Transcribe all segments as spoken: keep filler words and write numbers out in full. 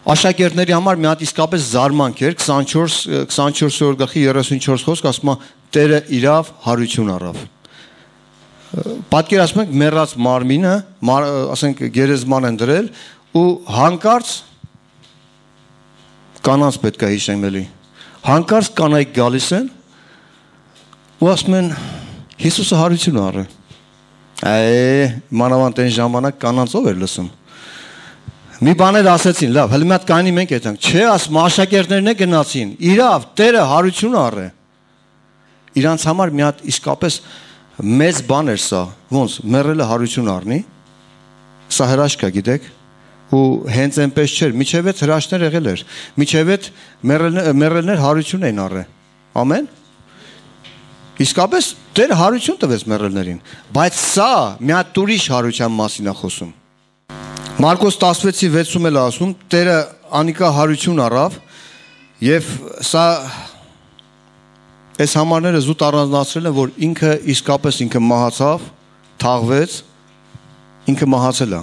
Աշակերտների համար մի հատ իսկապես զարմանք էր քսանչորսերորդ գլխի երեսունչորս խոսք ասում է Տերը իրավ հարություն առավ։ Պատկերացնում եք մեռած մարմինը, ասենք գերեզման են դրել ու հանկարծ կանանց պետք է հիշենք էլի։ Հանկարծ կանայք գալիս են ու ասում են Հիսուսը հարություն առը։ Այ մանավանդ այն ժամանակ կանանց ով էր լսում։ Մի բաներ ասեցին, լավ, հələ մի հատ կանի մենք այդանք, չէ, ասում աշակերտներն է գնացին, իրավ, Տերը հարություն առը։ Իրանց համար մի հատ իսկապես մեծ բան էր սա, ոնց, մեռելը հարություն առնի, սա հրաշք է, գիտեք, ու հենց այնպես չէր, միջև այդ հրաշքներ եղել էր, միջև այդ մեռելներ հարություն էին առը, ամեն, իսկապես Տերը հարություն տվեց մեռելներին, բայց սա մի հատ ուրիշ հարության մասին է խոսում։ Մարկոս տասնվեցի վեցում էլ ասում, Տերը անիկա հարություն առավ և սա այս համարները զուտ առանձնացրել են, որ ինքը իսկապես ինքը մահացավ, թաղվեց, ինքը մահացել է։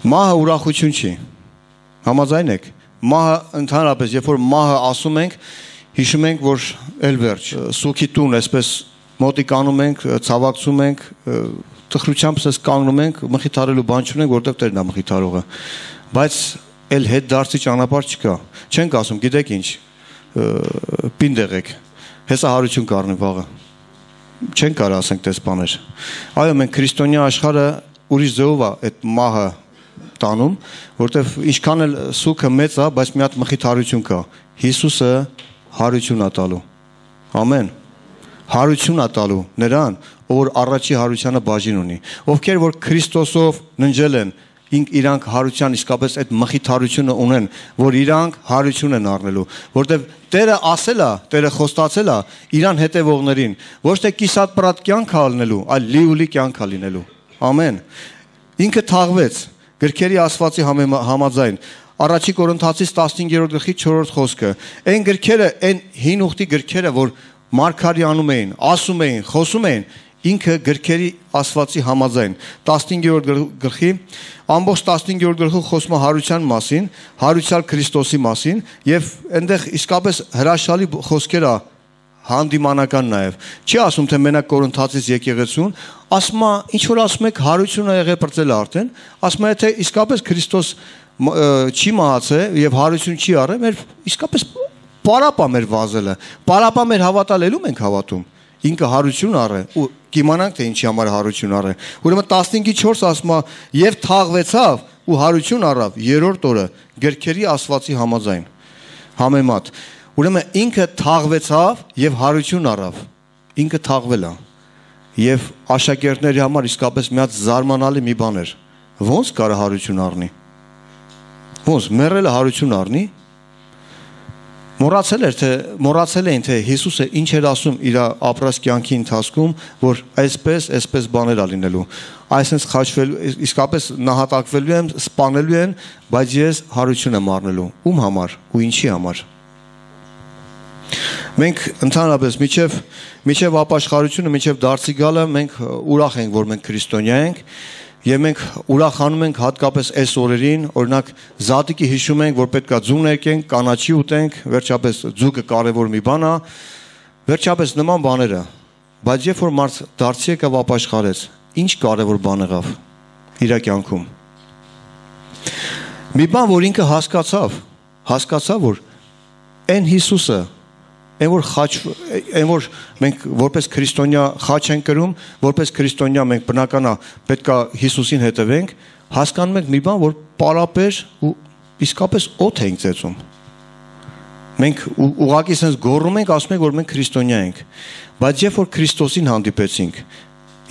Մահը ուրախություն չի, համաձայն եք, մահը ընդհանրապես, երբ որ մահը ասում ենք, հիշում ենք, որ էլ վերջ, սուքի տուն, այսպես մոտիկ անում ենք, ցավակցում ենք, տխրությամբ սես կանգնում ենք, մխիթարելու բան չունենք, որտեղ Տերն է մխիթարողը, բայց էլ հետ դարձի ճանապարհ չկա, չենք ասում, գիտեք ինչ, պինդ եղեք, հեսա հարություն կառնի վաղը, չենք կարող ասենք տես բաներ, այո մենք քրիստոնյա աշխարհը ուրիշ ձևով է այդ մահը տանում, որտեղ ինչքան էլ սուքը մեծ է, բայց մի հատ մխիթարություն կա, Հիսուսը հարություն է տալու, ամեն, հարություն է տալու նրան, որ առաջի հարությանը բաժին ունի, ովքեր որ Քրիստոսով ննջել են, իրանք հարության իսկապես այդ մխիթարությունը ունեն, որ իրանք հարություն են առնելու, որտեղ Տերը ասել է, Տերը խոստացել է իրան հետևողներին, ոչ թե կիսատ պրատ կյանք ալնելու, այլ լիուլի կյանք ալինելու, ամեն, ինքը թաղվեց, գրքերի ասվածի համաձայն, առաջի Կորինթացիս տասնհինգերորդ գլխի չորրորդ խոսքը, այն գրքերը, այն հին ուխտի գրքերը, որ մարգարի անում էին, ասում էին, խոսում էին, ինքը գրքերի ասվածի համաձայն, տասնհինգերորդ գլխի, ամբողջ տասնհինգերորդ գլխում խոսում է հարության մասին, հարուցյալ Քրիստոսի մասին, եւ այնտեղ իսկապես հրաշալի խոսքեր է հանդիմանական նաեւ։ Չի ասում թե մենակ Կորինթացիս եկեղեցուն, ասում է, ինչ որ ասում եք հարությունը եղե բրծել արդեն, ասում է թե իսկապես Քրիստոս չի մահացել եւ հարություն չի առել, մեր իսկապես պարապա մեր վազելը, պարապա մեր հավատալելու մենք հավատում, ինքը հարություն առը, ու կիմանանք թե ինչի համար հարություն առը, ուրեմն տասնհինգի չորս ասում է, և թաղվեցավ ու հարություն առավ երրորդ օրը գրքերի ասվածի համաձայն, համեմատ, ուրեմն ինքը թաղվեցավ և հարություն առավ, ինքը թաղվել է, և աշակերտների համար իսկապես մի հատ զարմանալի մի բան էր, ոնց կարա հարություն առնի, ոնց մեռելը հարություն առնի, Մոռացել էր թե մոռացել էին թե Հիսուսը ինչ էր ասում իր ապրած կյանքի ընթացքում, որ այսպես, այսպես բաներ ա լինելու։ Այսպես խաչվելու, իսկապես նահատակվելու եմ, սպանելու են, բայց ես հարություն եմ առնելու։ Ում համար ու ինչի համար։ Մենք ընդհանրապես միջև միջև ապաշխարությունը, միջև դարձի գալը մենք ուրախ ենք, որ մենք քրիստոնյա ենք։ Եվ մենք ուրախանում ենք հատկապես այս օրերին, օրինակ զատիկի հիշում ենք, որ պետք է ձուն ներկենք, կանաչի ուտենք, վերջապես ձուկը կարևոր մի բան է, վերջապես նման բաները, բայց երբ որ մարդ դարձի եկավ ապաշխարեց, ինչ կարևոր բան եղավ իր կյանքում։ Մի բան, որ ինքը հասկացավ, հասկացավ, որ այն Հիսուսը, այն որ խաչ, այն որ մենք որպես քրիստոնյա խաչ ենք կրում, որպես քրիստոնյա մենք բնական է պետք է Հիսուսին հետևենք, հասկանում ենք մի բան, որ պարապեր ու իսկապես օդ ենք ծեծում։ Մենք ուղղակի sense գոռում ենք, ասում ենք, որ մենք քրիստոնյա ենք, բայց երբ որ Քրիստոսին հանդիպեցինք,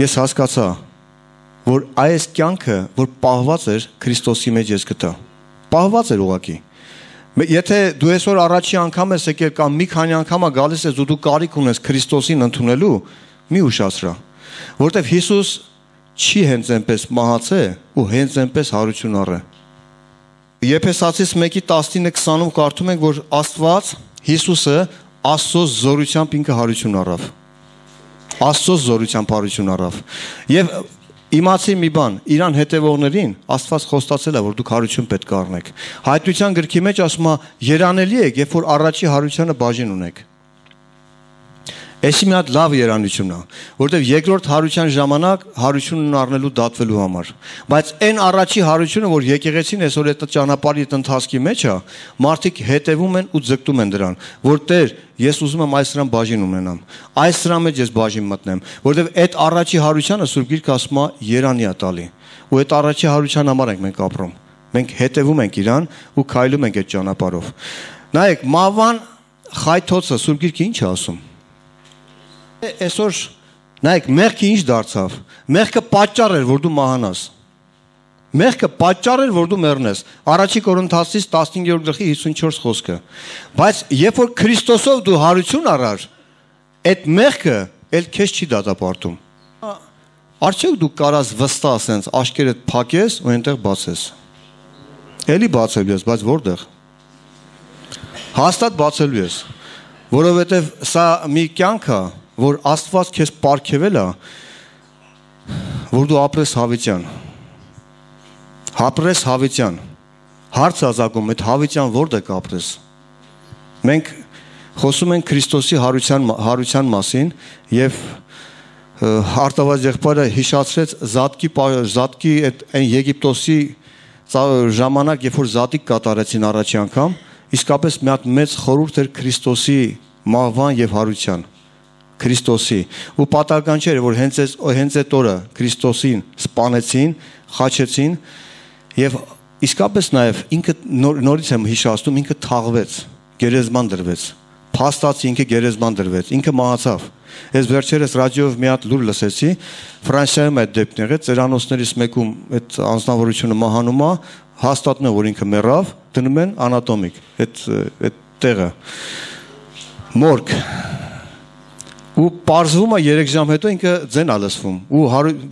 ես հասկացա, որ այս կյանքը, որ պահված էր Քրիստոսի մեջ ես գտա։ Պահված էր ուղղակի։ Եթե դու այսօր առաջի անգամ ես եկել կամ մի քանի անգամ գալիս ես ու դու կարիք ունես Քրիստոսին ընդունելու, մի ուշացրա, որտեվ Հիսուս չի հենց այնպես մահացել ու հենց այնպես հարություն առել։ Եփեսացիս մեկի տասնինը քսանում կարդում ենք, որ Աստված Հիսուսը Աստծո զորությամբ ինքը հարություն առավ։ Աստծո զորությամբ հարություն առավ։ Եվ իմացի մի բան, իրան հետևողներին Աստված խոստացել է, որ դուք հարություն պետք է առնեք։ Հայտնության գրքի մեջ ասում է, երանելի եք, երբ որ առաջի հարությանը բաժին ունեք։ Էսի մի հատ լավ երանություն է, որտեղ երկրորդ հարության ժամանակ հարությունն առնելու դատվելու համար։ Բայց այն առաջի հարությունը, որ եկեղեցին այսօր այդ ճանապարհի ընթացքի մեջ է, մարդիկ հետևում են ու ձգտում են դրան, որ Տեր, ես ուզում եմ այս սրան բաժին ունենամ, այս սրան մեջ ես բաժին մտնեմ, որտեղ այդ առաջի հարությանը Սուրբ Գիրքը ասում է երանի է տալի, ու այդ առաջի հարության համար ենք մենք ապրում։ Մենք հետևում ենք իրան ու քայլում ենք այդ ճանապարհով։ Նայեք, Մավան խայթոցը Սուրբ Գիրքը ինչ է ասում։ Այսօր նայեք, մեղքը ինչ դարձավ։ Մեղքը պատճառ էր, որ դու մահանաս։ Մեղքը պատճառ էր, որ դու մեռնես։ Առաջի Կորինթացիս տասնհինգերորդ գլխի հիսունչորս խոսքը։ Բայց երբ որ Քրիստոսով դու հարություն առար, այդ մեղքը էլ քեզ չի դատապարտում։ Արդյոք դու կարաս վստահ ասենց աշկերդ փակես ու այնտեղ բացես։ Էլի բացելու ես, բայց որտեղ։ Հաստատ բացելու ես, որովհետև սա մի կյանք է, որ Աստված քեզ պարգևել է, որ դու ապրես հավիտյան։ Ապրես հավիտյան։ Հարց ազակում, այդ հավիտյան որտեղ կապրես։ Մենք խոսում ենք Քրիստոսի հարության հարության մասին եւ արտավաճ եղբայրը հիշացրեց Զատկի Զատկի այդ այն Եգիպտոսի ժամանակ, երբ որ Զատիկ կատարեցին առաջի անգամ, իսկապես մի հատ մեծ խորհուրդ էր Քրիստոսի մահվան եւ հարության։ Քրիստոսի ու պատահական չէր, որ հենց այս հենց այդ օրը Քրիստոսին սպանեցին, խաչեցին եւ իսկապես նաեւ ինքը նոր, նորից եմ հիշացնում, ինքը թաղվեց, գերեզման դրվեց, փաստացի ինքը գերեզման դրվեց, ինքը մահացավ։ Ես վերջերս ռադիոյով մի հատ լուր լսեցի, Ֆրանսիայում այդ դեպքն եղեց, ծերանոցներից մեկում այդ անձնավորությունը մահանում է, հաստատում է, որ ինքը մեռավ, դնում են անատոմիկ, այդ այդ տեղը մորգ։ Ու պարզվում է երեք ժամ հետո ինքը ձեն է լսվում ու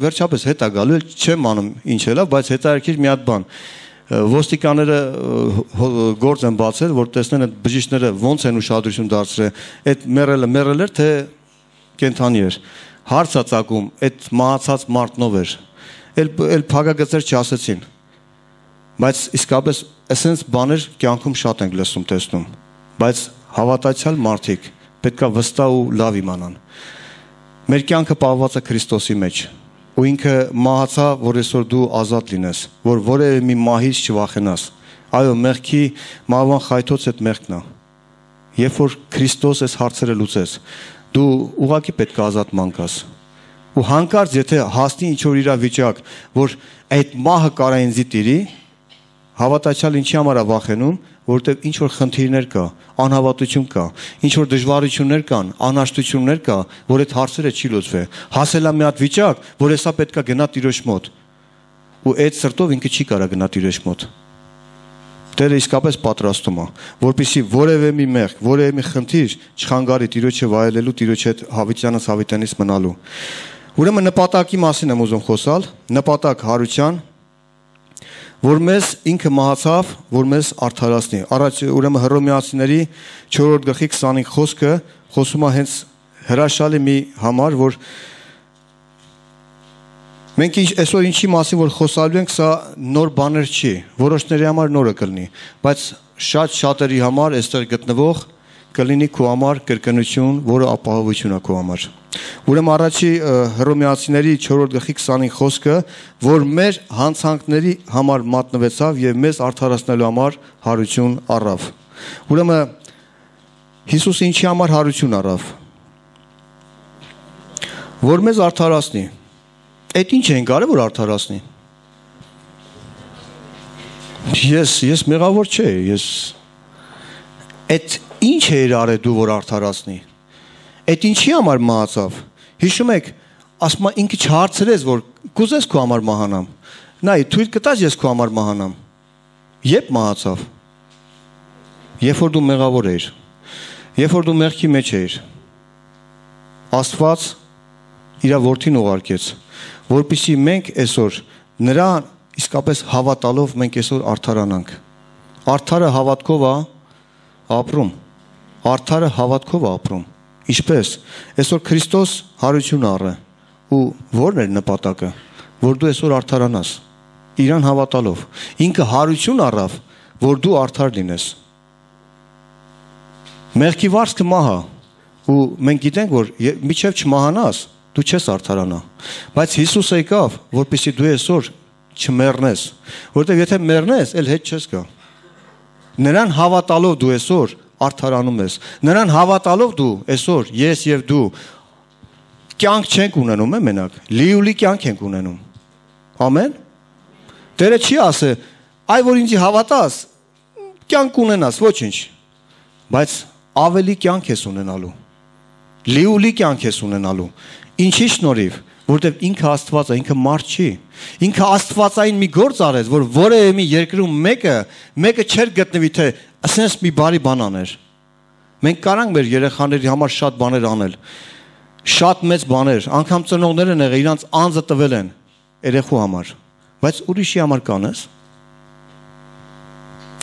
վերջապես հետ է գալու, չեմ անում ինչ էլա, բայց հետաքրքիր մի հատ բան։ Ոստիկանները գործ են բացել, որ տեսնեն այդ բժիշկները ոնց են ուշադրություն դարձրել, այդ մեռելը մեռել էր, թե կենթանի էր։ Հարց է ծագում, այդ մահացած մարդն ով էր։ Էլ էլ փակագծեր չասեցին։ Բայց իսկապես էսենց բաներ կյանքում շատ ենք լսում, տեսնում։ Բայց հավատացյալ մարդիկ պետք է վստահ ու լավ իմանան։ Մեր կյանքը պահված է Քրիստոսի մեջ, ու ինքը մահացա, որ այսօր դու ազատ լինես, որ որևէ մի մահից չվախենաս։ Այո, մեղքի մահվան խայթոց այդ մեղքն է։ Երբ որ Քրիստոս այս հարցերը լուծեց, դու ուղղակի պետք է ազատ մանկաս։ Ու հանկարծ եթե հասնի ինչ որ իրավիճակ, որ այդ մահը կարա ինձ տիրի, հավատացյալ ինչի համար է վախենում, որտեղ ինչ որ խնդիրներ կա, անհավատություն կա, ինչ որ դժվարություններ կան, անհաշտություններ կա, որ այդ հարցերը չի լուծվի։ Հասել է մի հատ վիճակ, որ հեսա պետքա գնա Տիրոջ մոտ։ Ու այդ սրտով ինքը չի կարա գնա Տիրոջ մոտ։ Տերը իսկապես պատրաստում է, որպեսզի որևէ մի մեղք, որևէ մի խնդիր չխանգարի Տիրոջը վայելելու, Տիրոջ հետ հավիտյանից հավիտյանից մնալու։ Ուրեմն նպատակի մասին եմ ուզում խոսալ, նպատակ հարության, որ մեզ ինքը մահացավ, որ մեզ արդարացնի։ Առաջ ուրեմն Հռոմեացիների չորրորդ գլխի քսանհինգ խոսքը խոսում է հենց հրաշալի մի համար, որ մենք այսօր ինչի մասին որ խոսալու ենք, սա նոր բաներ չի, որոշների համար նորը կլինի, բայց շատ շատերի համար այստեղ գտնվող կլինի քո համար կրկնություն, որը ապահովություն է քո համար։ Ուրեմն առաջի Հռոմեացիների չորրորդ գլխի քսանհինգ խոսքը, որ մեր հանցանքների համար մատնվեցավ եւ մեզ արդարացնելու համար հարություն առավ։ Ուրեմն Հիսուսը ինչի համար հարություն առավ։ Որ մեզ արդարացնի։ Այդ ինչ են կարել որ արդարացնի։ Ես ես մեղավոր չէ, ես այդ ինչ էր արել դու որ արդարացնի։ Այդ ինչի համար մահացավ։ Հիշում եք, ասում է ինքը չհարցրեց որ կուզես քո համար մահանամ։ Նայ, թույլ կտաս ես քո համար մահանամ։ Երբ մահացավ։ Երբ որ դու մեղավոր էիր։ Երբ որ դու մեղքի մեջ էիր։ Աստված իր որդին ուղարկեց, որպեսզի մենք այսօր նրան իսկապես հավատալով մենք այսօր արդարանանք։ Արդարը հավատքով է ապրում։ Արդարը հավատքով է ապրում։ Ինչպես այսօր Քրիստոս հարություն առը ու ո՞րն էր նպատակը։ որ դու այսօր արդարանաս, իրան հավատալով։ Ինքը հարություն առավ, որ դու արդար լինես։ Մեղքի վարձքը մահա, ու մենք գիտենք, որ մինչև չմահանաս, դու չես արդարանա։ Բայց Հիսուսը եկավ, որպեսզի դու այսօր չմեռնես, որովհետև եթե մեռնես, էլ հետ չես գա։ Նրան հավատալով դու այսօր արդարանում ես։ Նրան հավատալով դու այսօր ես եւ դու կյանք չենք ունենում, է մենակ, լիուլի կյանք ենք ունենում։ Ամեն։ Տերը չի ասե, այ որ ինձի հավատաս, կյանք ունենաս, ոչինչ։ Բայց ավելի կյանք ես ունենալու։ Լիուլի կյանք ես ունենալու։ Ինչի շնորհիվ, որովհետև ինքը Աստված է, ինքը մարդ չի։ Ինքը Աստվածային մի գործ արեց, որ որևէ մի երկրում մեկը, մեկը չէր գտնվի, թե ասես մի բարի բան աներ։ Մենք կարանք մեր երեխաների համար շատ բաներ անել։ Շատ մեծ բաներ, անգամ ծնողները եղել, իրանց անձը տվել են երեխու համար։ Բայց ուրիշի համար կանես։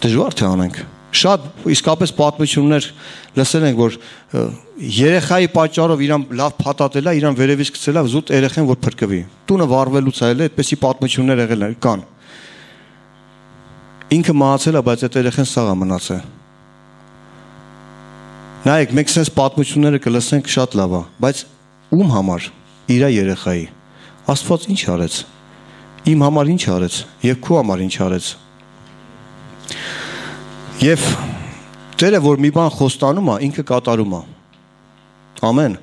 Դժվար թե անենք։ Շատ իսկապես պատմություններ լսել ենք, որ երեխայի պատճառով իրան լավ փաթաթելա, իրան վերևից գցելա, զուտ երեխան որ փրկվի։ Տունը վառվելուց այլ է, այդպեսի պատմություններ եղել կան։ Ինքը մահացել է, բայց այդ երեխան սաղ է մնացել։ Նայեք, մենք sense պատմությունները կլսենք շատ լավ է, բայց ում համար իր երեխայի Աստված ինչ արեց։ Իմ համար ինչ արեց եւ քո համար ինչ արեց։ Եվ Տերը որ մի բան խոստանում է, ինքը կատարում է։ Ամեն։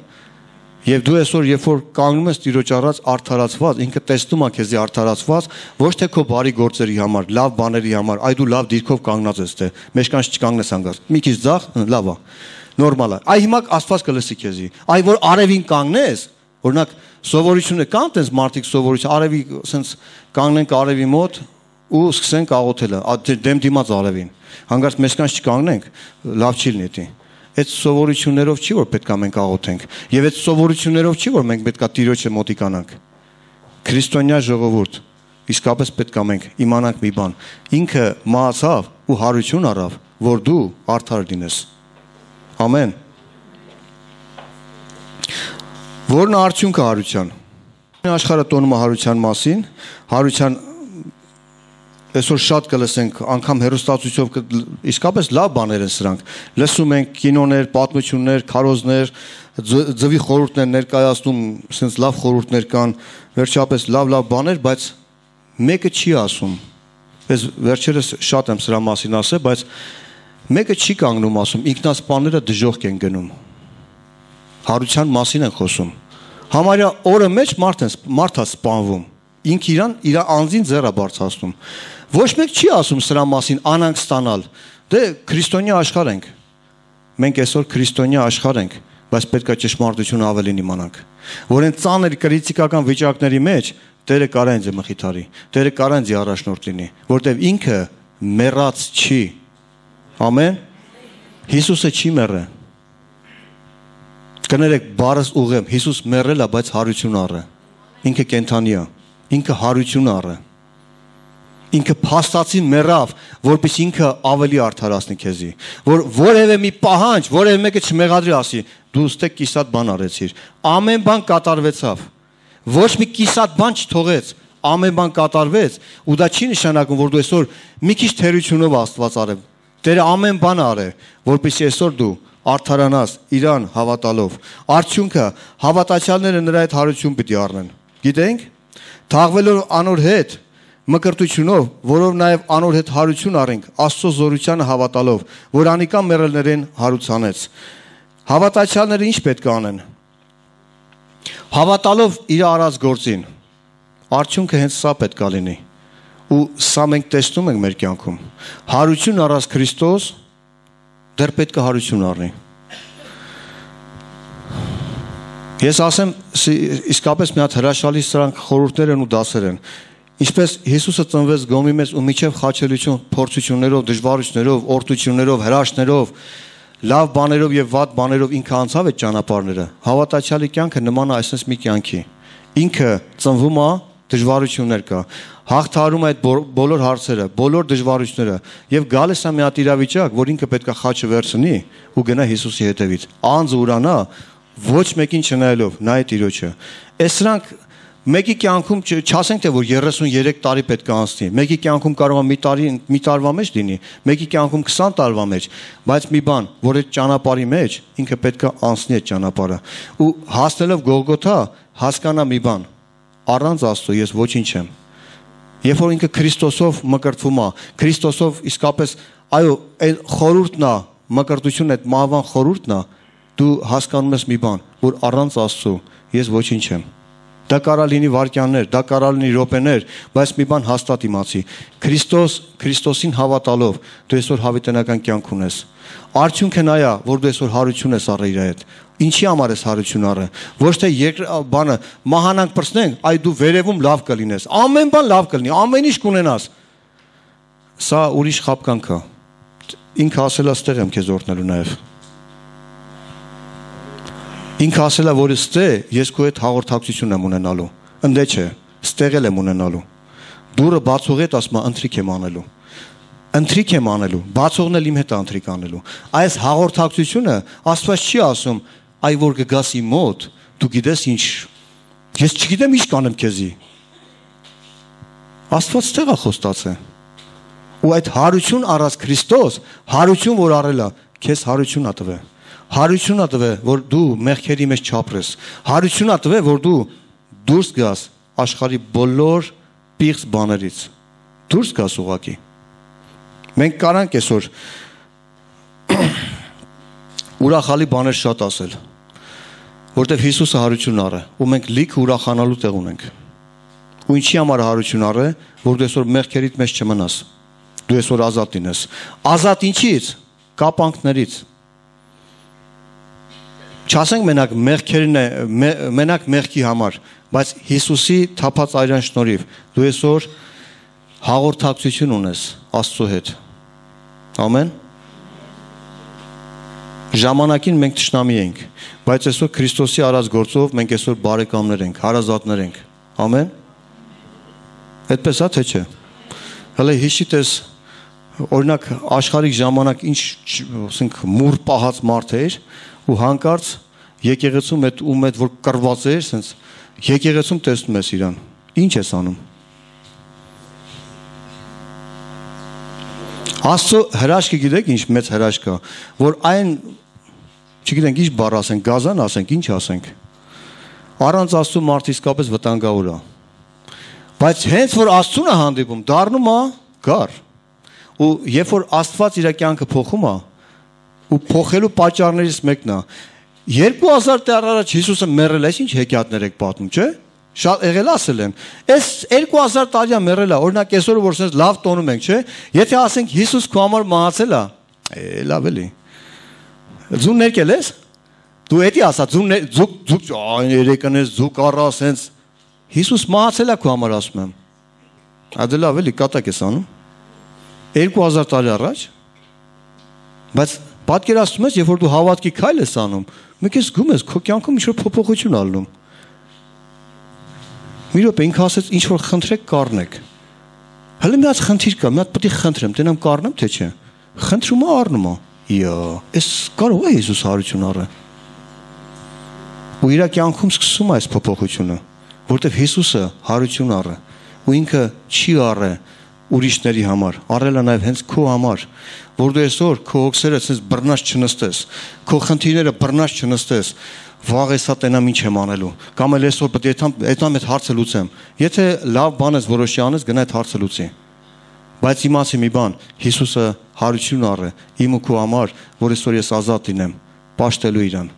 Եվ դու այսօր երբ որ կանգնում ես Տիրոջ առած արդարացված, ինքը տեսնում է քեզի արդարացված, ոչ թե քո բարի գործերի համար, լավ բաների համար, այ դու լավ դիրքով կանգնած ես թե, մեջքանց չկանգնես հանգած։ Մի քիչ ձախ, լավ է։ Նորմալ է։ Այ հիմա Աստված կլսի քեզի։ Այ որ արևին կանգնես, օրինակ սովորությունը կան տես մարդիկ սովորություն, արևի ասենց կանգնենք արևի մոտ ու սկսենք աղոթել, դեմ դիմաց արևին։ Հանգարց մեջքանց չկանգնենք, լավ չի լինի։ Այդ սովորություններով չի որ պետք է մենք աղոթենք, եւ այդ սովորություններով չի որ մենք պետք է Տիրոջը մոտիկանանք։ Քրիստոնյա ժողովուրդ, իսկապես պետք է մենք իմանանք մի բան։ Ինքը մահացավ ու հարություն առավ, որ դու արդար լինես։ Ամեն։ Որն արդյունքը հարության։ Աշխարհը տոնում է հարության մասին, հարության այսօր շատ կլսենք, անգամ հեռուստացույցով իսկապես լավ բաներ են սրանք։ Լսում ենք կինոներ, պատմություններ, քարոզներ, ձվի խորհուրդներ ներկայացնում, sense լավ խորհուրդներ կան, վերջապես լավ-լավ բաներ, բայց մեկը չի ասում։ Ես վերջերս շատ եմ սրա մասին ասել, բայց մեկը չի կանգնում ասում, ինքնասպանները դժոխք են գնում։ Հարության մասին են խոսում։ Համարյա օրը մեջ մարդ է մարդ է սպանվում։ Ինք իրան իր անձին ձեռը բարձրացնում։ Ոչ մեկ չի ասում սրա մասին անանք ստանալ։ Դե քրիստոնյա աշխարհ ենք։ Մենք այսօր քրիստոնյա աշխարհ ենք, բայց պետք է ճշմարտությունը ավելին իմանանք։ Որ այն ծանր քրիտիկական վիճակների մեջ Տերը կարա ինձ մխիթարի, Տերը կարա ինձ առաջնորդ լինի, որտեվ ինքը մեռած չի։ Ամեն։ Հիսուսը չի մեռել։ Կներեք բառս ուղեմ, Հիսուս մեռել է, բայց հարություն առը։ Ինքը կենթանի է, ինքը հարություն առը։ Ինքը փաստացի մեռավ, որպես ինքը ավելի արդարացնի քեզի, որ որևէ մի պահանջ, որևէ մեկը չմեղադրի ասի, դու ստե կիսատ բան արեցիր։ Ամեն բան կատարվեցավ։ Ոչ մի կիսատ բան չթողեց, ամեն բան կատարվեց, ու դա չի նշանակում, որ դու այսօր մի քիչ թերությունով Աստված արև։ Տերը ամեն բան արե, որպեսզի այսօր դու արդարանաս իրան հավատալով։ Արդյունքը հավատացյալները նրա այդ հարություն պիտի առնեն։ Գիտենք, թաղվելով անոր հետ մկրտությունով, որով նաև անոր հետ հարություն առենք, Աստծո զորությանը հավատալով, որ անիկա մեռելներին հարուցանեց։ Հավատացյալները ինչ պետք է անեն։ Հավատալով իր արած գործին, արդյունքը հենց սա պետք է լինի։ Ու սա մենք տեսնում ենք մեր կյանքում։ Հարություն առած Քրիստոս դեռ պետք է հարություն առնի։ Ես ասեմ, իսկապես մի հատ հրաշալի սրանք խորհուրդներ են ու դասեր են։ Ինչպես Հիսուսը ծնվեց գոմի մեզ ու միջև խաչելություն, փորձություններով, դժվարություններով, օրդություններով, հրաշքներով, լավ բաներով եւ վատ բաներով ինքը անցավ այդ ճանապարհները։ Հավատացյալի կյանքը նման է այսպես մի կյանքի։ Ինքը ծնվում է, դժվարություններ կա, հաղթահարում է այդ բոլոր հարցերը, բոլոր դժվարությունները եւ գալիս է մի հատ իրավիճակ, որ ինքը պետք է խաչը վերցնի ու գնա Հիսուսի հետևից։ Անձը ուրանա, ոչ մեկին չնայելով, նայ Տիրոջը։ Այս սրանք Մեկի կյանքում չասենք թե որ երեսուններեք տարի պետք է անցնի, մեկի կյանքում կարող է մի տարի մի տարվա մեջ լինի, մեկի կյանքում քսան տարվա մեջ, բայց մի բան, որ այդ ճանապարհի մեջ ինքը պետք է անցնի այդ ճանապարհը։ Ու հասնելով Գողգոթա հասկանա մի բան, առանց Աստծո ես ոչինչ եմ։ Երբ որ ինքը Քրիստոսով մկրտվում է, Քրիստոսով իսկապես այո, այդ խորհուրդն է, մկրտությունը այդ մահվան խորհուրդն է, դու հասկանում ես մի բան, որ առանց Աստծո ես ոչինչ եմ։ Դա կարա լինի վայրկյաններ, դա կարա լինի րոպեներ, բայց մի բան հաստատ իմացի։ Քրիստոս, Քրիստոսին հավատալով դու այսօր հավիտենական կյանք ունես։ Արդյունքը նա է, որ դու այսօր հարություն ես առել իր հետ։ Ինչի համար ես հարություն առը։ Ոչ թե բանը մահանանք պրծնենք, այ դու վերևում լավ կլինես։ Ամեն բան լավ կլինի, ամեն ինչ կունենաս։ Սա ուրիշ խաբկանք է։ Ինքը ասել է ստեղ եմ քեզ օրհնելու նաև։ Ինքը ասել է, որ ստե ես քո հետ հաղորդակցություն եմ ունենալու։ Ընդե չէ, ստեղել եմ ունենալու։ Դուրը բացող հետ ասում է ընթրիք եմ անելու։ Ընթրիք եմ անելու, բացողն էլ իմ հետ է ընթրիք անելու։ Այս հաղորդակցությունը Աստված չի ասում, այ որ կգաս իմ մոտ, դու գիտես ինչ, ես չգիտեմ ինչ կանեմ քեզի։ Աստված ստեղ է խոստացել։ Ու այդ հարություն առած Քրիստոս, հարություն որ առել է, քեզ հարություն ա տվել։ Հարություն ա տվել, որ դու մեղքերի մեջ չապրես։ Հարություն ա տվել, որ դու դուրս գաս աշխարհի բոլոր պիղծ բաներից։ Դուրս գաս ուղակի։ Մենք կարանք այսօր ուրախալի բաներ շատ ասել, որտեղ Հիսուսը հարություն առը, ու մենք լիքը ուրախանալու տեղ ունենք։ Ու ինչի համար հարություն առը, որ դու այսօր մեղքերիդ մեջ չմնաս։ Դու այսօր ազատ լինես։ Ազատ ինչից։ Կապանքներից։ Չասենք մենակ մեղքերն է, մենակ մեղքի համար, բայց Հիսուսի թափած այրան շնորհիվ դու այսօր հաղորդակցություն ունես Աստծո հետ։ Ամեն։ Ժամանակին մենք թշնամի ենք, բայց այսօր Քրիստոսի արած գործով մենք այսօր բարեկամներ ենք, հարազատներ ենք։ Ամեն։ Այդպես է թե չէ։ Հələ հիշի տես, օրինակ աշխարհիկ ժամանակ ինչ, ասենք, մուր պահած մարդ էր, ու հանկարծ եկեղեցում այդ ում այդ որ կռված էր, ասենց եկեղեցում տեսնում ես իրան։ Ինչ ես անում։ Աստծո հրաշքը գիտեք ինչ մեծ հրաշք է, որ այն չգիտենք ինչ բառ ասենք, գազան ասենք, ինչ ասենք։ Առանց Աստծո մարդ իսկապես վտանգավոր է։ Բայց հենց որ Աստծուն է հանդիպում, դառնում է գար։ Ու երբ որ Աստված իր կյանքը փոխում է, ու փոխելու պատճառներից մեկն է։ երկու հազար տարի առաջ Հիսուսը մեռել է, ինչ հեքիաթներ եք պատմում, չէ՞։ Շատ եղել ասել եմ։ Այս երկու հազար տարի մեռել է, օրինակ այսօր որ ասես լավ տոնում ենք, չէ՞։ Եթե ասենք Հիսուս քո համար մահացել է, է լավ էլի։ Ձուն ներկել ես։ Դու էդի ասա, ձուն ձուկ ձուկ երեկանես ձուկ առա, ասենց Հիսուս մահացել է քո համար ասում եմ։ Ադե լավ էլի կատակ ես անում։ երկու հազար տարի առաջ։ Բայց պատկերացնում ես, երբ որ դու հավատքի քայլ ես անում, մեկ ես զգում ես քո կյանքում ինչ-որ փոփոխություն ալնում։ Մի րոպե ինքը ասեց ինչ որ խնդրեք կառնեք։ Հələ մի հատ խնդիր կա, մի հատ պետք է խնդրեմ, տենամ կառնեմ թե չէ։ Խնդրում ա առնում ա։ Իա, էս կարող է Հիսուս հարություն առը։ Ու իր կյանքում սկսում է այս փոփոխությունը, որտեղ Հիսուսը հարություն առը, ու ինքը չի առը ուրիշների համար, առել է նաև հենց քո համար, որ դու այսօր քո հոգսերը ասես բռնած չնստես, քո խնդիրները բռնած չնստես, վաղ էսա տենամ ինչ եմ անելու, կամ էլ այսօր պետք է այդամ այդ հարցը լուծեմ։ Եթե լավ բան ես որոշի անես, գնա այդ հարցը լուծի։ Բայց իմացի մի բան, Հիսուսը հարություն առը իմ ու քո համար, որ այսօր ես ազատ լինեմ, պաշտելու իրան։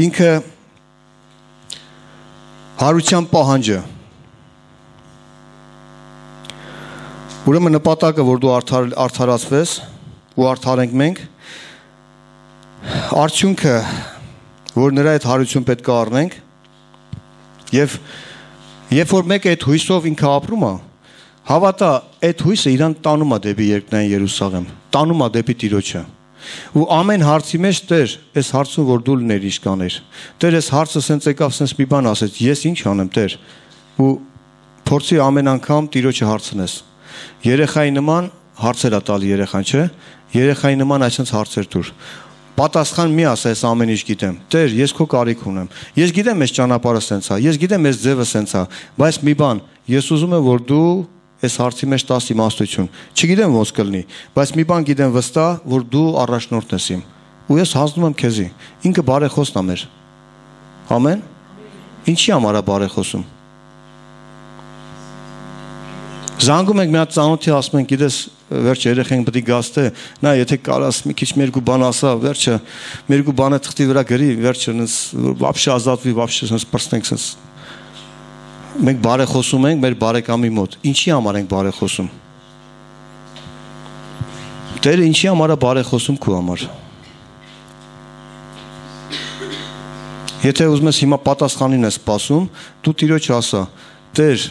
Ինքը հարության պահանջը։ Ուրեմն նպատակը, որ դու արդար, արդարացվես ու արդարենք մենք, արդյունքը, որ նրա այդ հարություն պետք է առնենք, եւ երբ որ մեկը այդ հույսով ինքը ապրում է, հավատա, այդ հույսը իրան տանում է դեպի երկնային Երուսաղեմ, տանում է դեպի Տիրոջը։ Ու ամեն հարցի մեջ Տեր, այս հարցում որ դու լիներ իշկաներ, Տեր, այս հարցը սենց եկավ, սենց մի բան ասեց, ես ինչ անեմ, Տեր, ու փորձի ամեն անգամ Տիրոջը հարցնես։ Երեխայի նման հարցեր ա տալի երեխան, չէ՞։ Երեխայի նման այսպես հարցեր դուր։ պատասխան մի ասա, ես ամեն ինչ գիտեմ։ Տեր, ես քո կարիք ունեմ։ Ես գիտեմ այս ճանապարհը սենց է, ես գիտեմ այս ձևը սենց է, բայց մի բան, ես ուզում եմ, որ դու այս հարցի մեջ տաս իմաստություն։ Չգիտեմ ոնց կլինի, բայց մի բան գիտեմ վստահ, որ դու առաջնորդն ես իմ։ Ու ես հանձնում եմ քեզի։ Ինքը բարեխոսն է մեր։ Ամեն։ Ինչի համար է բարեխոսում։ Զանգում ենք մի հատ ծանոթի ասում ենք, գիտես, վերջը երեխենք պետք է գաստե, նա եթե կարաս մի քիչ մերկու բան ասա, վերջը մերկու բանը թղթի վրա գրի, վերջը նս вообще ազատվի, вообще նս պրստենք սենց։ Մենք բարեխոսում ենք մեր բարեկամի մոտ։ Ինչի համար ենք բարեխոսում։ Տերը ինչի համար է բարեխոսում քո համար։ Եթե ուզում ես հիմա պատասխանին ես սպասում, դու Տիրոջ ասա. Տեր,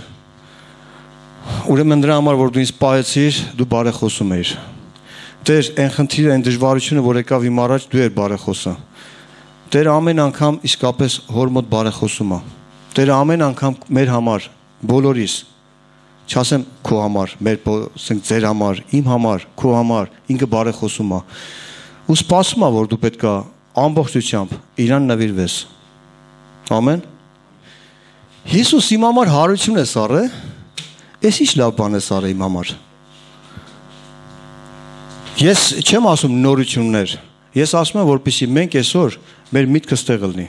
ուրեմն դրա համար որ դու ինձ պահեցիր, դու բարեխոսում ես։ Տեր, այն խնդիրը, այն դժվարությունը, որ եկավ իմ առաջ, դու ես բարեխոսը։ Տեր ամեն անգամ իսկապես հոր մոտ բարեխոսում է։ Տեր ամեն անգամ մեր համար, բոլորիս, չասեմ քո համար, մեր ասենք ձեր համար, իմ համար, քո համար, ինքը բարեխոսում է։ Ու սպասում է, որ դու պետքա ամբողջությամբ իրան նվիրվես։ Ամեն։ Հիսուս իմ համար հարություն է սարը, ես ինչ լավ բան է սարը իմ համար։ Ես չեմ ասում նորություններ, ես ասում եմ, որպեսզի մենք այսօր մեր միտքը ստեղ լինի։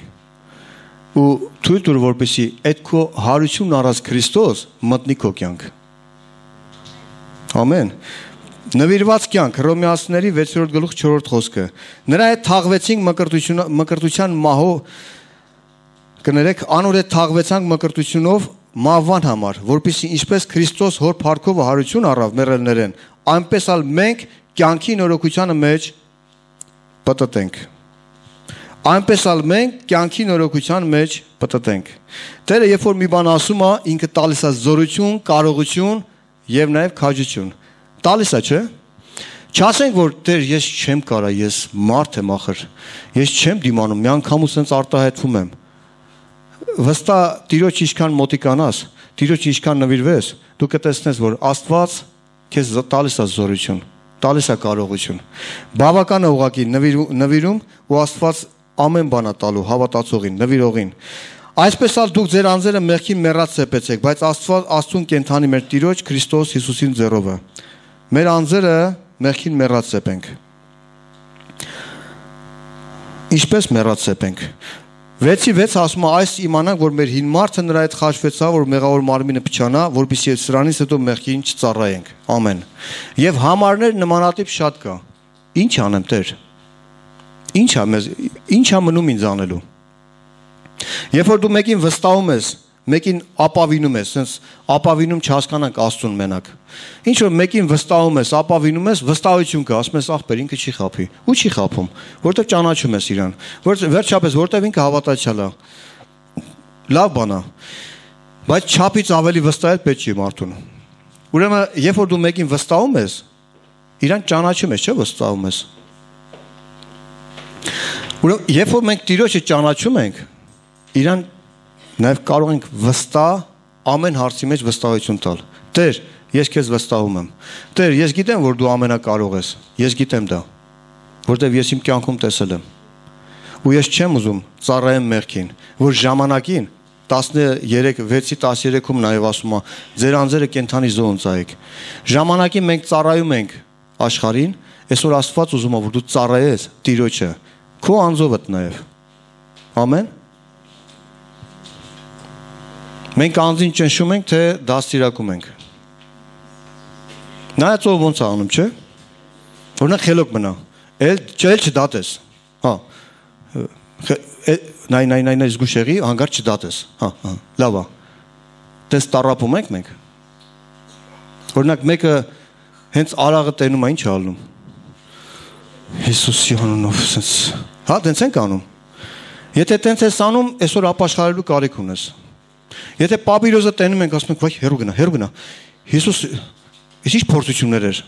Ու թույլ տուր, որպեսզի այդ քո հարությունն առած Քրիստոս մտնի քո կյանք։ Ամեն։ Նվիրված կյանք, Հռոմեացիների վեցերորդ գլուխ չորրորդ խոսքը։ Նրա հետ թաղվեցինք մկրտություն մկրտության մահով կներեք, անոր հետ թաղվեցանք մկրտությունով մահվան համար, որպեսզի ինչպես Քրիստոս հոր փառքով հարություն առավ մեռելներեն, այնպես ալ մենք կյանքի նորոգությանը մեջ պտտենք։ Այնպես ալ մենք կյանքի նորոգության մեջ պտտենք։ Տերը երբ որ մի բան ասում է, ինքը տալիս է զորություն, կարողություն եւ նաեւ քաջություն։ Տալիս է, չէ՞։ Չասենք որ Տեր, ես չեմ կարա, ես մարդ եմ ախր։ Ես չեմ դիմանում, մի անգամ ու սենց արտահայտվում եմ։ Վստահ Տիրոջ ինչքան մոտիկանաս, Տիրոջ ինչքան նվիրվես, դու կտեսնես, որ Աստված քեզ տալիս է զորություն, տալիս է կարողություն։ Բավական է ուղղակի նվիրում ու Աստված ամեն բան է տալու հավատացողին, նվիրողին։ Այսպես ալ դուք ձեր անձերը մեղքին մեռած սեպեցեք, բայց Աստված Աստծուն կենթանի մեր Տիրոջ Քրիստոս Հիսուսին ձեռովը։ Մեր անձերը մեղքին մեռած սեպենք։ Ինչպես մեռած սեպենք։ վեցի վեց ասում է այս իմանանք, որ մեր հին մարդը նրա հետ խաչվեցավ, որ մեղավոր մարմինը փչանա, որպեսզի սրանից հետո մեղքին չծառայենք։ Ամեն։ Եվ համարներ նմանատիպ շատ կա։ Ինչ անեմ Տեր։ Ինչ է մեզ, ինչ է մնում ինձ անելու։ Երբ որ դու մեկին վստահում ես, մեկին ապավինում ես, sense ապավինում չհասկանանք Աստծուն մենակ։ Ինչ որ մեկին վստահում ես, ապավինում ես, վստահություն կա, ասում ես ախպեր, ինքը չի խափի։ Ու չի խափում, որտեվ ճանաչում ես իրան։ Որ վերջապես որտեվ ինքը հավատացյալ է։ Լավ բան է։ Բայց չափից ավելի վստահել պետք չի մարդուն։ Ուրեմն, երբ որ դու մեկին վստահում ես, իրան ճանաչում ես, չէ՞ վստահում ես։ Ուրեմն, երբ որ մենք Տիրոջը ճանաչում ենք, իրան նաև կարող ենք վստահ ամեն հարցի մեջ վստահություն տալ։ Տեր, ես քեզ վստահում եմ։ Տեր, ես գիտեմ, որ դու ամենակարող ես։ Ես գիտեմ դա, որտեվ ես իմ կյանքում տեսել եմ։ Ու ես չեմ ուզում ծառայեմ մեղքին, որ ժամանակին տասներեք վեցի տասներեքում նաև ասում է, ձեր անձերը կենթանի զոհ ծայեք։ Ժամանակին մենք ծառայում ենք աշխարհին, այսօր Աստված ուզում է, որ դու ծառայես Տիրոջը, քո անձովդ նաև։ Ամեն։ Մենք անձին ճնշում ենք, թե դաստիարակում ենք։ Նայած ով ոնց է անում, չէ՞։ Օրինակ խելոք մնա։ Էլ չել չդատես։ Հա։ Նայ նայ նայ նայ զգուշ եղի, հանգարտ չդատես։ Հա, հա, լավ է։ Տես տարապում ենք մենք։ Օրինակ մեկը հենց արաղը տենում է, ինչ է ալնում։ Հիսուսի անունով sense։ Հա, տենց ենք անում։ Եթե տենց ես անում, այսօր ապաշխարելու կարիք ունես։ Եթե պապիրոզը տենում ենք, ասում ենք, վայ, հեռու գնա, հեռու գնա։ Հիսուս ես ինչ փորձություններ էր։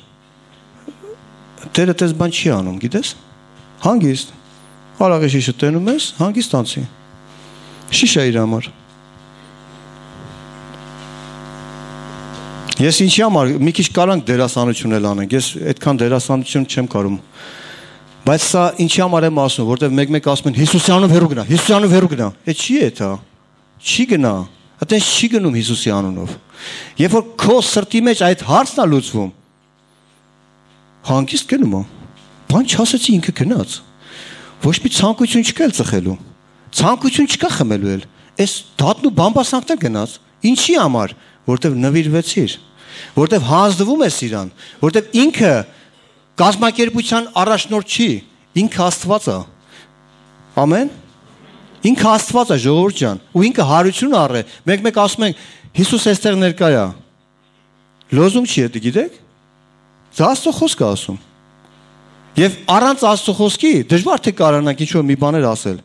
Տերը տես բան չի անում, գիտես։ Հանգիստ։ Արաղի շիշը տենում ես, հանգիստ անցի։ Շիշ է իր համար։ Ես ինչի համար մի քիչ կարանք դերասանություն էլ անենք։ Ես այդքան դերասանություն չեմ կարում։ Բայց սա ինչի համար եմ ասում, որտեվ մեկ-մեկ ասում են Հիսուսյանով հեռու գնա, Հիսուսյանով հեռու գնա։ Այդ չի է դա։ Չի գնա։ Այդպես չի գնում Հիսուսի անունով։ Երբ որ քո սրտի մեջ այդ հարցն է լուծվում, հանգիստ գնում է։ Բան չասեցի ինքը գնաց։ Ոչ մի ցանկություն չկա ծխելու։ Ցանկություն չկա խմելու էլ։ Այս դատն ու բամբասանքն գնաց։ Ինչի համար, որտեվ նվիրվեցիր, որտեվ հանձնվում ես իրան, որտեվ ինքը կազմակերպության առաջնորդ չի, ինքը Աստված է։ Ամեն։ Ինքը Աստված է, ժողովուրդ ջան, ու ինքը հարություն առ է։ Մեկ-մեկ ասում ենք Հիսուս այստեղ ներկա է։ Լոզունգ չի դա, գիտեք։ Դա Աստծո խոսքը ասում։ Եվ առանց Աստծո խոսքի դժվար թե կարողանանք ինչ-որ մի բաներ ասել։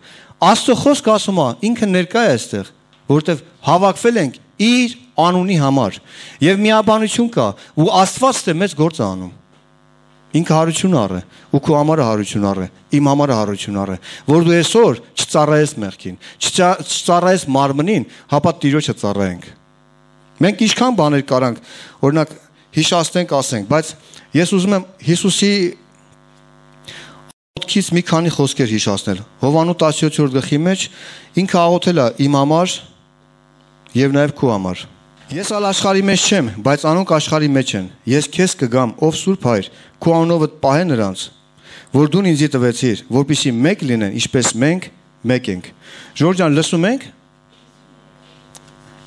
Աստծո խոսքը ասում է, ինքը ներկա է այստեղ, որովհետև հավաքվել ենք իր անունի համար։ Եվ միաբանություն կա, ու Աստված թե մեծ գործ է անում։ Ինքը հարություն առ է, ու քո համարը հարություն առ է, իմ համարը հարություն առ է, որ դու այսօր չծառայես մեղքին, չծառայես մարմնին, հապա Տիրոջը ծառայենք։ Մենք ինչքան բաներ կարանք, օրինակ հիշացնենք, ասենք, բայց ես ուզում եմ Հիսուսի ոտքից մի քանի խոսքեր հիշացնել։ Հովանու տասնյոթերորդ գլխի մեջ ինքը աղոթել է իմ համար եւ նաեւ քո համար։ Ես ալ աշխարհի մեջ չեմ, բայց անոնք աշխարհի մեջ են։ Ես քեզ կգամ, ով Սուրբ Հայր, քո անունով պահե նրանց, որ դու ինձ տվեցիր, որպեսզի մեկ լինեն, ինչպես մենք մեկ ենք։ Ժորժ ջան, լսում եք։